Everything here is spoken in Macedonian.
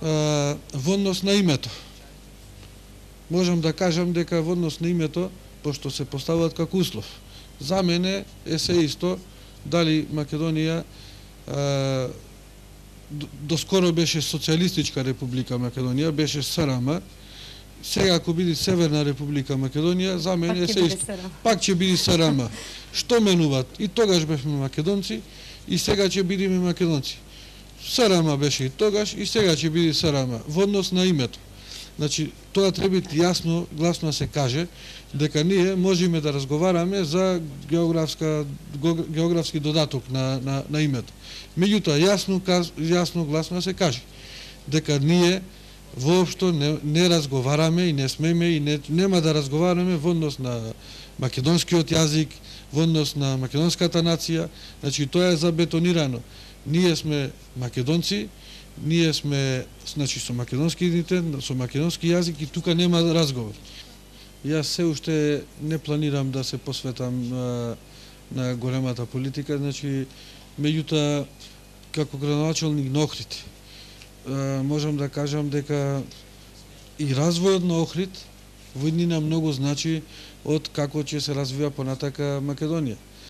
во однос на името. Можам да кажам дека во однос на името, пошто се поставуваат како услов, за мене е се исто дали Македонија доскоро беше Социјалистичка република Македонија, беше СРМ, сега ако биде Северна република Македонија, за мене е се исто. Пак ќе биде СРМ. Што менуваат? И тогаш бевме македонци, и сега ќе бидеме македонци. СРМ беше и тогаш, и сега ќе биде СРМ. Во однос на името. Значи, тоа треба јасно, гласно да се каже, дека ние можеме да разговараме за географски додаток на името. Меѓутоа, јасно, гласно да се каже, дека ние воопшто не разговараме и не смеме и нема да разговараме во однос на македонскиот јазик, во однос на македонската нација. Значи, тоа е забетонирано. Ние сме македонци, ние сме, значи, со македонски идентитет, со македонски јазик и тука нема разговор. Јас се уште не планирам да се посветам на големата политика, значи, меѓутоа, како градоначалник на Охрид, можам да кажам дека и развојот на Охрид во иднина многу значи од како ќе се развива понатака Македонија.